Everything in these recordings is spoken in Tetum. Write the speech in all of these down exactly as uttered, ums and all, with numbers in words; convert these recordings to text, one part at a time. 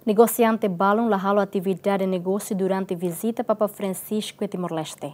Negosiante balun la halo atividade negósiu durante vizita Papa Francisco iha Timor-Leste.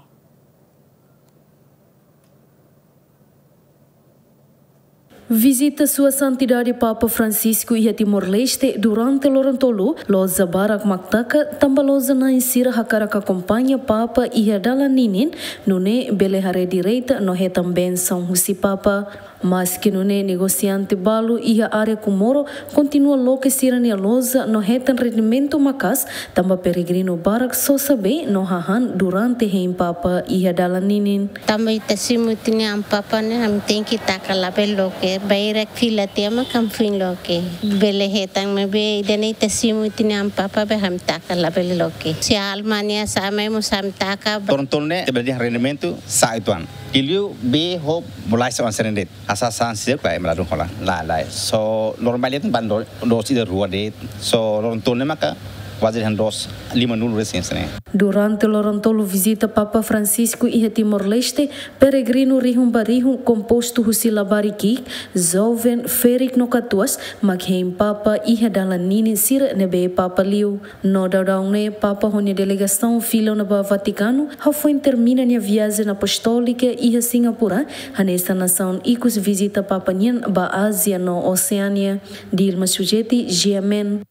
Vizita Sua Santidade Papa Francisco iha Timor-Leste durante loron tolu, loja barak mak taka, tanba loja na'in sira hakarak akompaña Papa iha dalan ninin, nune'e bele haree direta no hetan bensaun husi Papa. Maski nune'e, negosiante balu iha área Comoro kontinua loke sira-nia loja no hetan rendimentu maka'as, tanba peregrinu barak sosa bee no hahán durante hein Papa iha dalan ninin. Tanba ita simu ita-nia Amu Papa ne'e, ami tenke taka labele loke. Bainhira fila tiha mak ami foin loke. Bele hetan maibé ida-ne'e ita simu ita-nia Amu Papa be ami taka labele loke. Se Alemanha sa'e mai mós ami taka. Loron tolu ne'e, ita bele dehan rendimentu sa'e uitoan. Liuliu bee ho bolaxa oan sira-ne'e de'it. Hanesan sira klae meladun hola. Lae, lae. So, loron balu de'it bá do, doos ida rua de'it. So, loron tolu ne'e maka kuaze dehan doos lima-nulu resin sira-ne'e. Durante loron tolu vizita Papa Francisco iha Timor-Leste, peregrinu rihun ba rihun kompostu husi labarik ki'ik, joven, ferik no katuas, mak hein Papa iha dalan ninin sira ne'ebé Papa liu. No daudaun ne'e, Papa ho nia delegasaun fila ona ba Vatikanu, hafoin termina nia viajen apostólika iha Singapura, hanesan nasaun ikus vizita Papa nian ba Ázia no Oseánia. Dilma Sujeti, G M N.